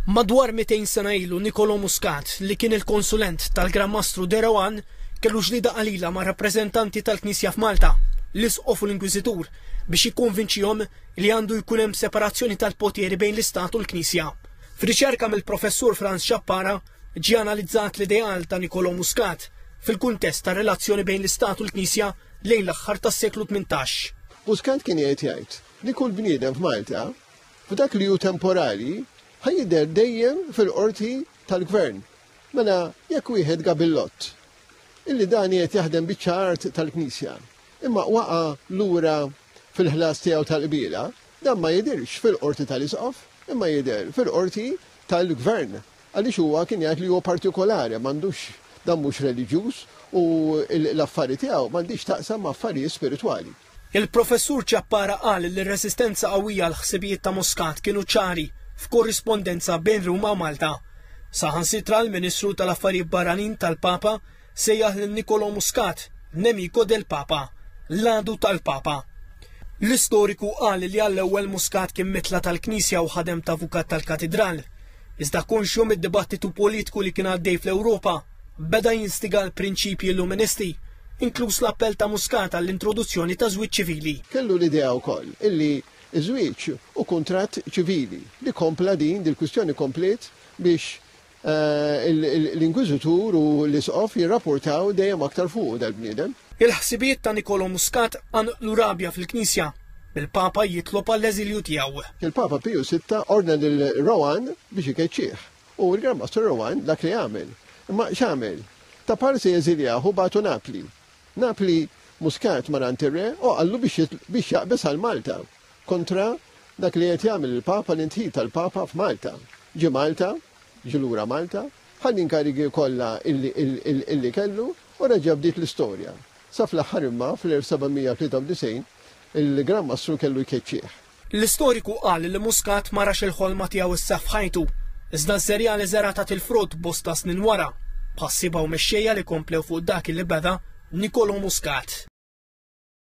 Madwar 200 sena ilu Niccolò Muscat, li kien il-konsulent tal-Gran Mastru De Rohan, kellu ġlieda qalila ma' rappreżentanti tal-Knisja f'Malta, l-Isqof u l-Inkwiżitur, biex jikkonvinċihom li għandu jkun hemm separazzjoni tal-poteri bejn l-Istat u l-Knisja. F'riċerka mill-Professur Frans Ciappara ġie analizzat l-ideal ta' Niccolò Muscat fil-kuntest tar-relazzjoni bejn l-Istat u l-Knisja lejn l-aħħar tas-seklu 18. Muscat kien qiegħed jgħid li kull bniedem f'Malta F'dak li hu temporali, ħa jidher dejjem fil-qorti tal-gvern. Mela jekk wieħed gabillott, illi dan qiegħed jaħdem biċċa art tal-Knisja, imma waqa' lura fil-ħlas tiegħu tal-qbiela, dan ma jidhirx fil-qorti tal-Isqof, imma jidher fil-qorti tal-gvern. Għaliex huwa kien jgħid li huwa partikolari, m'għandux dan mhux reliġjuż u l-affari tiegħu m'għandhiex x'taqsam ma' affarijiet spiritwali. Il-Professur Ciappara qal li r-reżistenza qawwija għall-ħsibijiet ta' Muscat kienu ċari f'korrispondenza bejn Ruma u Malta. Saħansitra l-Ministru tal-Affarijiet Barranin tal-Papa sejjaħ lil Niccolò Muscat nemico del Papa, l-għadu tal-Papa. L-istoriku qal li għall-ewwel Muscat kien mitla tal-Knisja u ħadem ta' avukat tal-Katidral. Iżda konxju mid-dibattitu politiku li kien għaddej fl-Ewropa, beda jinstiga l-prinċipji Illuministi, inkluż l-appell ta' Muscat għall-introduzzjoni ta' żwieġ ċivili. Kellu l-idea wkoll illi ż-żwieġ hu kuntratt ċivili li kompla din dil-kwistjoni kompliet biex l-Inkwiżitur u l-Isqof jirrapportaw dejjem aktar fuqu dal-bniedem. Il-ħsibijiet ta' Niccolò Muscat qanqlu rabja fil-Knisja, bil-Papa jitlob għall-eżilju tiegħu. Il-Papa Piju Sitta ordna lil Rohan biex ikeċċih. U l-Gran Mastru Rowan dak li għamel. Imma x'għamel? Ta' parsi eżiljah u bagħtu Napli. Napli Muscat mar għand ir-Re u qallu biex biex jaqbeż għal Malta kontra dak li qed jagħmel il-Papa l-indħil tal-Papa f'Malta. Ġie Malta, ġie lura Malta, ħa l-inkarigi kollha illi illi kellu u reġa' bdiet l-istorja. Sa fl-aħħar imma fl-1793 il-Gran Mastru kellu jkeċċih. L-istoriku qal li Muscat ma rax il-ħolma tiegħu issa f'ħajtu, iżda ż-żerriegħa li żera' tat il-frott bosta snin wara, b'ħassieba u mexxejja li komplew fuq dak li beda Nicolo Muscat.